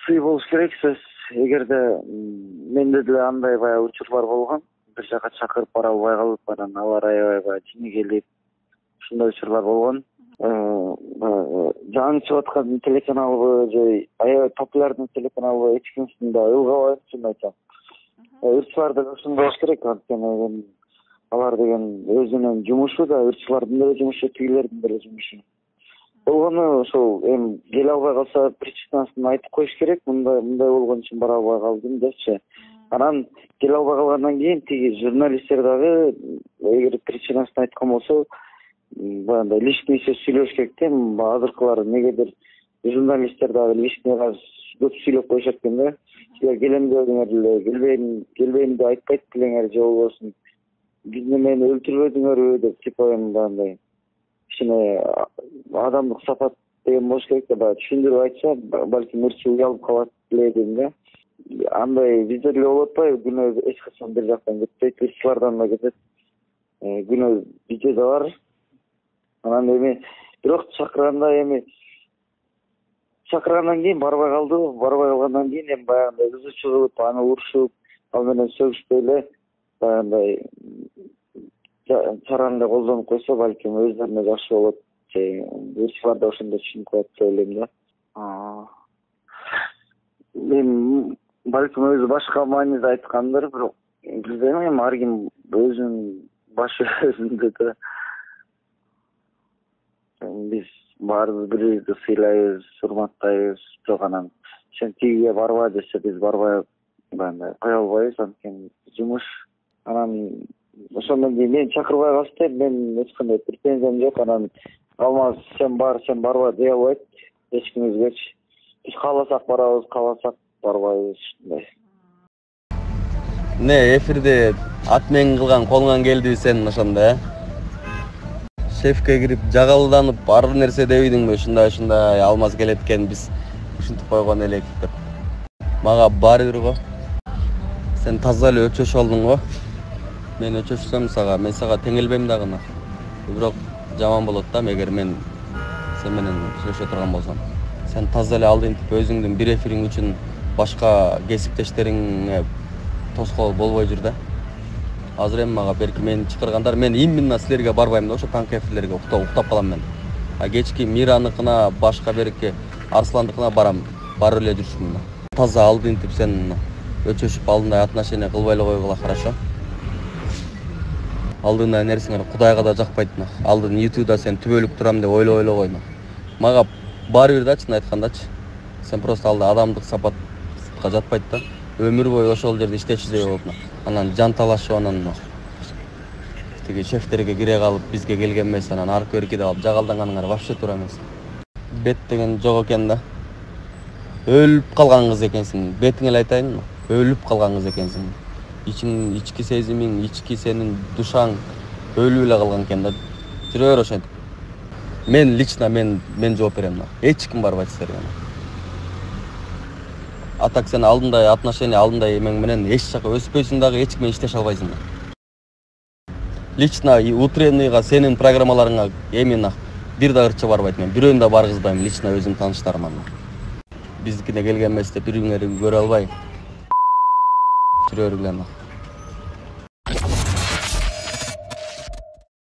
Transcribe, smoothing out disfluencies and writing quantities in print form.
укуктуу болуш керек сөз. Эгерде менде деле андай баягы учурлар болгон. Бир жака чакырып бара албай калып, анан ала ырайы баягы жини келип, ушундай учурлар болгон. Жаңы чыгып аткан телеканалбы же аябай популярный телеканалбы эч кимсин да ылгабайм, чынын айтсам. Ырчылар да ушундай болуш керек, анткени алар деген өзүнүн жумушу да, ырчылардын деле жумушу, тигилердин деле жумушу. Болгону ошол эми келе албай калса причинасын айтып коюш керек. Мындай болгон үчүн бара албай калдым депчи. Анан келе албай калгандан кийин тиги журналисттер дагы эгер причинасын айткан болсо, баягындай личный сөз сүйлөш керек да. Азыркылар негедир журналисттер дагы личный көп сүйлөп коюшат экен да. Силер келем дедиңер эле, келбейм деп айтпайт белеңер же болбосун. Бизди мени өлтүрбөдүңөрбү деп типа мындай кичине адамдык сапат деген болуш керек да. Баягы түшүндүрүп айтса, балким ырчы уялып калат эле дедим да. Андай бизде деле болуп атпайбы, күнөө эч качан бир жактан кетпейт, ырчылардан да кетет. Күнөө bizde да бар. Анан эми бирок чакыргандан кийин барбай калды. Барбай калгандан кийин эми баягындай кызычуу кылып, аны урушуп, ал менен сөгүшпөй эле баягындай чараны колдонуп койсо, балким өздөрүнө жакшы болот. Ырчылар да ошондой түшүнүп коет деп ойлойм да. Эми балким өзү башка мааниде айткандыр, бирок билбейм, эми ар ким өзүнүн башы өзүндө да. Биз баарыбыз бири-бирибизди сыйлайбыз, урматтайбыз. Бирок анан сен тигиге барба десе, биз барбай баягындай кое албайбыз, анткени жумуш. Анан ошондон кийин мени чакырбай калышты, мен эч кандай претензиям жок. Анан алмаз сен барба дей албайт эч кимибизгечи. Биз кааласак барабыз, кааласак барбайбыз, ушундай. Не, эфирде атмен кылган колуңан келдиби сен ошондо, Шефке кирип жагалданып ар нерсе дебейдиңби? Ушундай алмаз келет экен, биз ушинтип койгон элек деп. Мага баары бир го. Сен таза эле өчөшүп алдың го. Мен өчөшсөм мен сага теңелбейм дагы. Бирок жаман болот да, эгер мен сен менен сүйлөшө турган болсом. Сен таза эле алдынтип өзүңдүн бир эфириң үчүн башка кесиптештериңе тоскоол болбой жүр да. Азыр эми мага берки мени чакыргандар, мен именно силерге барбайм да, ошо таңкы эфирлерге уктап калам мен. Кечки Мираныкына, башка берки Арсландыкына барам, барып эле жүрсүм. Таза алдынтип сен өчөшүп алдындай отношение кылбай эле койгула, хорошо? Алдындай нерсеңер Кудайга да жакпайт. Алдын YouTube'да сен түбөлүк турам деп ойлой эле койну. Мага баары бир да, чын айткандачы. Сен просто алда адамдык сапатка жатпайт да. Өмүр бою ошол жерде иштечүдөй болуп, анан жан талашып, анан тиги шефтерге кире калып, бизге келген эмес, анан аркы беркиде калып жагалданганыңар вообще туура эмес. Бет деген жок экен да. Өлүп калган кыз экенсиң. Бетиңе эле айтайын, өлүп калган кыз экенсиң. Ички сезимиң, ички сенин душаң өлүп эле калган экен да. Жүрө бер ошентип. Мен лично мен жооп берем да. Эч ким барбайт силерге. Атак сен алдындай отношение, алдындай эмең менен эч жака өспөйсүң дагы, эч кимге иштеше албайсың. Лично утренныйга сенин программаларыңа эмин бир да ырчы барбайт, мен бирөөнү да баргызбайм лично өзүм тааныштарыма. Биздикине келген эмес деп бириңерди көрө албай жүрө бергиле.